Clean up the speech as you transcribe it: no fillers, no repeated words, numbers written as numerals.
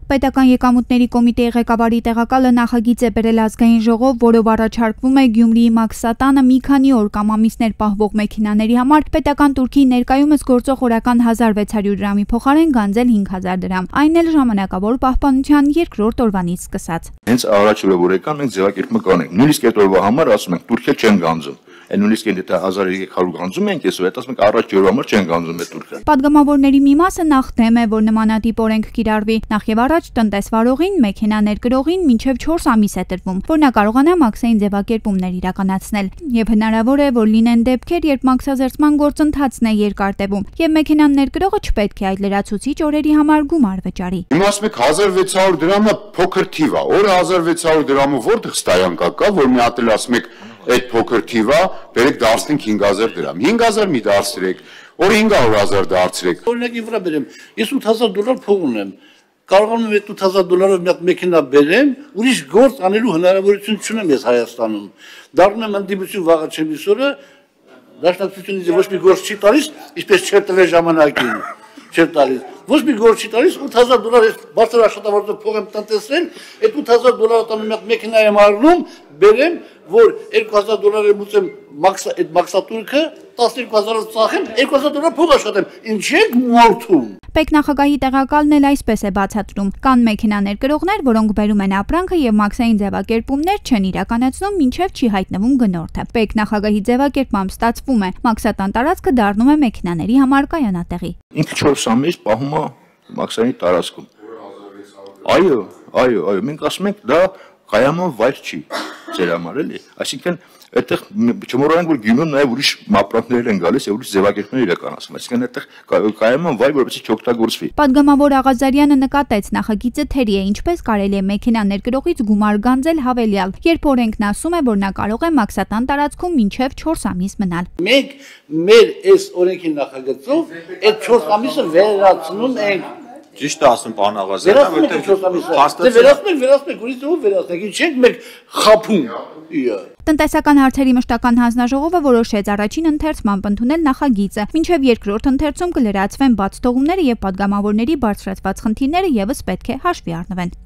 Պետական եկամուտների կոմիտեի ղեկավարի տեղակալը նախագիծ է բերել ազգային ժողով, որով առաջարկվում է Գյումրիի մաքսատանը մի քանի օր կամ ամիսներ պահվող մեքենաների համար պետական турքի ներկայումս գործող օրական 1600 դրամի փոխարեն գանձել 5000 դրամ, այն էլ ժամանակավոր պահպանության երկրորդ օրվանից սկսած։ Հենց առաջորդը որ եկան մենք ձևակերպումը կանենք, նույնիսկ այդ օրվա համար ասում ենք Թուրքիա չեն գանձում։ Նույնիսկ եթե 1300 գանձում ենք, այսօր ասում ենք առաջ օրվա համար չեն գանձում այդ Թուրքիա։ Պատգամավորների մի մասը նախ դեմ է, որ նմանատիպ օրենք կիրառվի, նախ եւ առաջ տնտեսվարողին, մեքենա ներկրողին մինչեւ 4 ամիս է տրվում, որ նա կարողանա մաքսային ձևակերպումներ իրականացնել։ Եվ հնարավոր է, որ լինեն դեպքեր, երբ մաքսազերծման գործընթացն է երկար տևում, եւ մեքենան ներկրողը չպետք է այդ լրացուցիչ օրերի համար գումար վճարի։ Հիմա ասում եք 1600 դրամը փոքր թիվ է, օրը 1600 դրամը որտեղ ստայանքա կա, որ մի հատ էլ ասում եք այդ փոքր թիվը բերեք դարձնենք 5000 դրամ։ 5000 մի դարձրեք, օր 500,000 դարձրեք։ Օրինակի վրա բերեմ, ես $8000 փող ունեմ։ Կարողանում եմ այդ $8000-ով մի հատ մեքենա բերեմ, ուրիշ գործ անելու հնարավորություն չունեմ ես Հայաստանում։ Դառնում եմ ընդդիմություն վաղը չեմիսորը, դաշնակցությունից ոչ մի գործ չի տալիս, ինչպես չէր տվել ժամանակին։ Չէր տալիս։ Ոչ մի գործ չի տալիս, $8000 ես բարձր աշխատավարձով փող եմ տնտեսել, այդ $8000 տանում մի հատ մեքենա եմ առնում, բերեմ, որ $2000 եմ ուծեմ այդ մաքսատուրքը, 12000-ը ծախեմ, $2000 փող աշխատեմ։ Ինչ եք մորթում։ Պետք նախագահի տեղակալն էլ այսպես է բացատրում. կան մեքենա ներկրողներ, որոնք բերում են ապրանքը եւ մաքսային ձևակերպումներ չեն իրականացնում, մինչեւ չի հայտնվում գնորդը։ Պետք նախագահի ձևակերպմամբ ստացվում է, մաքսատան տարածքը դառնում է մեքենաների համար կայանատեղի։ Ինքը 4 ամիս պահում է մաքսային տարածքում։ Այո, մենք ասում ենք դա կայաման վայր չի ձեր համար էլի, այսինքն այդտեղ չմոռանանք որ Գյումրիում նաև ուրիշ ապրանքներ են գալիս եւ ուրիշ ձևակերպումներ իրականացվում, այսինքն այդտեղ կայաման վայր որպեսզի չօգտագործվի։ Պատգամավոր Աղազարյանը նկատեց նախագիծը թերի է, ինչպես կարելի է մեքենա ներկրողից գումար գանձել հավելյալ, երբ օրենքն ասում է, որ նա կարող է մաքսատան տարածքում մինչև 4 ամիս մնալ։ Մենք մեր այս օրենքի նախագծով այդ 4 ամիսը վերացնում ենք։ Ճիշտ է ասում պարոն Աղազարյան, որտեղ վերացնենք, ուրիշ ով վերացնենք, ինչ ենք մենք խափում։ Տնտեսական հարցերի մշտական հանձնաժողովը որոշեց առաջին ընթերցմամբ ընդունել նախագիծը, մինչև երկրորդ ընթերցում կլրացվեն բաց թողումները եւ պատգամավորների բարձրացված խնդիրները եւս պետք է հաշվի առնվեն։